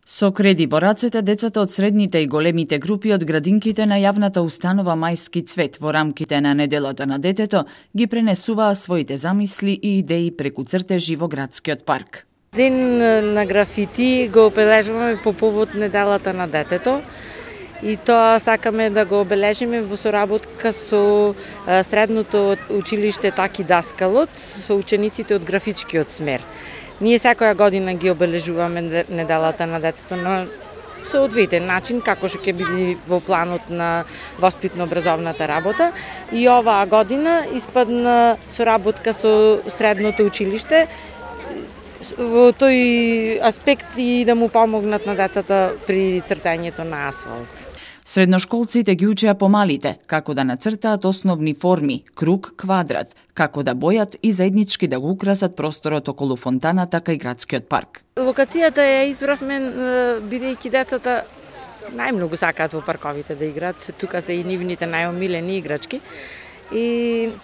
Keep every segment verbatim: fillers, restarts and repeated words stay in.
Со креди во рацете, децата од средните и големите групи од градинките на јавната установа Мајски цвет во рамките на неделата на детето ги пренесуваа своите замисли и идеи преку цртежи во градскиот парк. Ден на графити го обележуваме по повод неделата на детето и тоа сакаме да го обележиме во соработка со средното училиште Таки Даскалот, со учениците од графичкиот смер. Ние секоја година ги обележуваме неделата на детето на соодветен начин, како што ќе биде во планот на воспитно-образовната работа. И оваа година испадна соработка со средното училиште во тој аспект и да му помогнат на децата при цртањето на асфалт. Средношколците ги учеа помалите како да нацртаат основни форми, круг, квадрат, како да бојат и заеднички да го украсат просторот околу фонтаната кај градскиот парк. Локацијата ја избравме бидејќи децата најмногу сакаат во парковите да играат, тука се и нивните најомилени играчки. И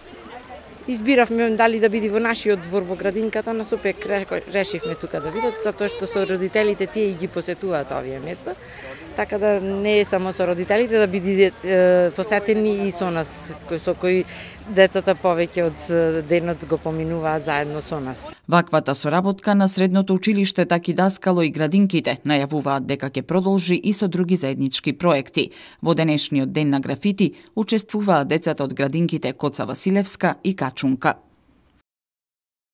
избиравме дали да биде во нашиот двор во градинката, на сопек решивме тука да бидат, затоа што со родителите тие и ги посетуваат овие места, така да не е само со родителите, да биде посетени и со нас, со кои децата повеќе од денот го поминуваат заедно со нас. Ваквата соработка на средното училиште Таки Даскало и градинките најавуваат дека ќе продолжи и со други заеднички проекти. Во денешниот ден на графити учествуваат децата од градинките Коца Василевска и Качунка.